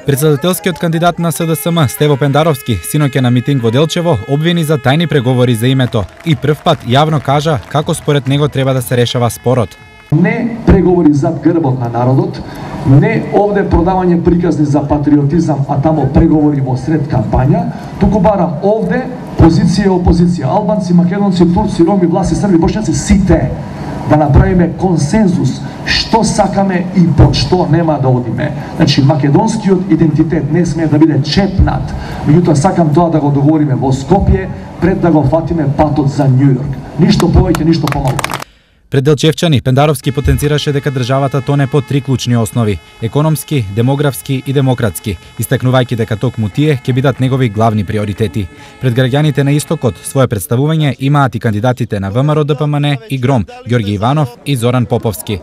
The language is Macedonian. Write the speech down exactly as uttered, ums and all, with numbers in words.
Председателскиот кандидат на С Д С М Стево Пендаровски синоќа на митинг во Делчево обвини за тајни преговори за името и прв пат јавно кажа како според него треба да се решава спорот. Не преговори зад грбот на народот, не овде продавање приказни за патриотизам, а тамо преговори во сред кампања, туку барам овде позиција и опозиција, албанци, македонци, турци, роми, власти, срби, бошњаци, сите да направиме консензус што сакаме и под што нема да одиме. Значи, македонскиот идентитет не смее да биде чепнат, меѓутоа сакам тоа да го договориме во Скопје пред да го фатиме патот за Њујорк. Ништо повеќе, ништо помалку. Пред делчевчани Пендаровски потенцираше дека државата тоне по три клучни основи – економски, демографски и демократски, истакнувајќи дека токму тие ќе бидат негови главни приоритети. Пред граѓаните на Истокот свое представување имаат и кандидатите на ВМРО Д П М Н и Гром, Ѓорги Иванов и Зоран Поповски.